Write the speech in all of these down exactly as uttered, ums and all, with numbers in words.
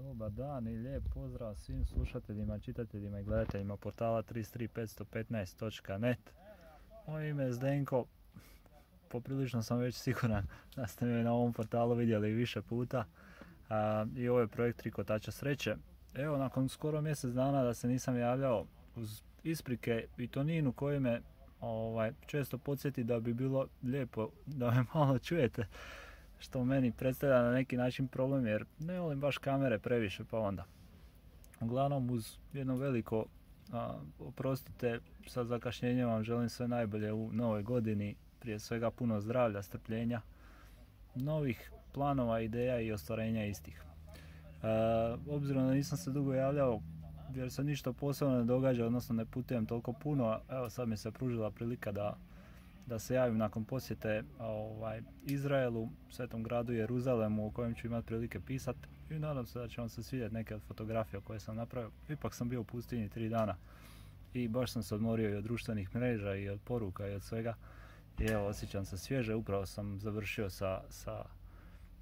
Dobar dan i lijep pozdrav svim slušateljima, čitateljima i gledateljima portala tri tri pet jedan pet točka net. Moje ime je Zdenko, poprilično sam već siguran da ste me na ovom portalu vidjeli više puta. A, I ovo je projekt Tri kotača sreće. Evo, nakon skoro mjesec dana da se nisam javljao, uz isprike i toninu koji me ovaj, često podsjeti da bi bilo lijepo da me malo čujete, što meni predstavlja na neki način problem jer ne volim baš kamere previše, pa onda. Uglavnom, uz jedno veliko a, oprostite, sa zakašnjenjem vam želim sve najbolje u novoj godini, prije svega puno zdravlja, strpljenja, novih planova, ideja i ostvarenja istih. A, obzirom da nisam se dugo javljao jer se ništa posebno ne događa, odnosno ne putujem toliko puno, evo sad mi se pružila prilika da da se javim nakon posjete ovaj, Izraelu, svetom gradu Jeruzalemu, o kojem ću imati prilike pisati, i nadam se da će vam se svidjeti neke od fotografija koje sam napravio. Ipak sam bio u pustinji tri dana i baš sam se odmorio i od društvenih mreža i od poruka i od svega. I evo, osjećam se svježe, upravo sam završio sa, sa,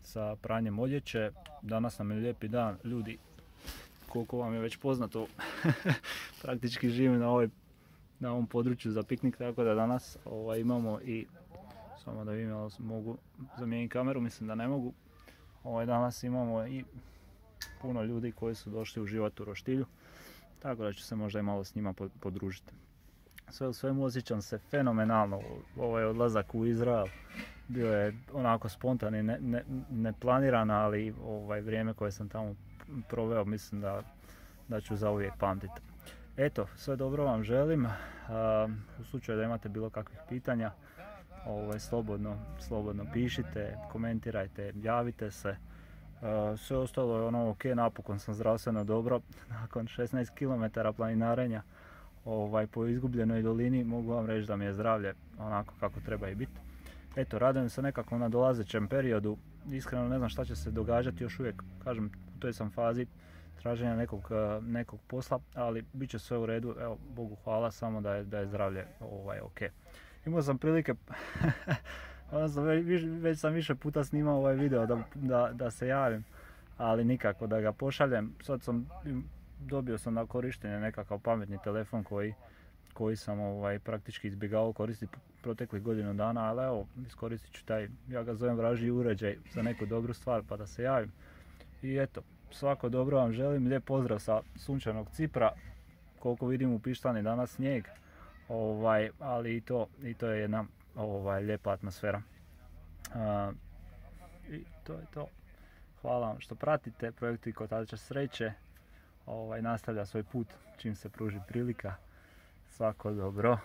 sa pranjem odjeće. Danas nam je lijepi dan, ljudi, koliko vam je već poznato, praktički živim na ovoj na ovom području za piknik, tako da danas ovaj, imamo i, samo da vidim jel mogu zamijeniti kameru, mislim da ne mogu, ovaj, danas imamo i puno ljudi koji su došli uživati u roštilju, tako da ću se možda i malo s njima podružiti. Sve u svemu osjećam se fenomenalno, ovaj odlazak u Izrael bio je onako spontan i ne, ne, neplaniran, ali ovaj, vrijeme koje sam tamo proveo mislim da, da ću zauvijek pamtiti. Eto, sve dobro vam želim. U slučaju da imate bilo kakvih pitanja, ovaj, slobodno, slobodno pišite, komentirajte, javite se. Sve ostalo je ono ok, napokon sam zdravstveno dobro. Nakon šesnaest kilometara planinarenja ovaj, po izgubljenoj dolini mogu vam reći da mi je zdravlje onako kako treba i biti. Eto, radujem se nekako na dolazećem periodu. Iskreno ne znam šta će se događati, još uvijek, kažem, u toj sam fazi traženja nekog, nekog posla, ali bit će sve u redu, evo, Bogu hvala, samo da je, da je zdravlje ovaj, ok. Imao sam prilike, već, već sam više puta snimao ovaj video da, da, da se javim, ali nikako da ga pošaljem. Sad sam, dobio sam na korištenje nekakav pametni telefon koji, koji sam ovaj, praktički izbjegavao koristiti proteklih godinu dana, ali evo, iskoristit ću taj, ja ga zovem vražji uređaj za neku dobru stvar pa da se javim. I eto, svako dobro vam želim, lijep pozdrav sa sunčanog Cipra, koliko vidim u Pištani danas snijeg, ovaj, ali i to, i to je jedna ovaj, lijepa atmosfera. Uh, I to je to. Hvala vam što pratite, projekt Tri kotača sreće ovaj, nastavlja svoj put čim se pruži prilika. Svako dobro.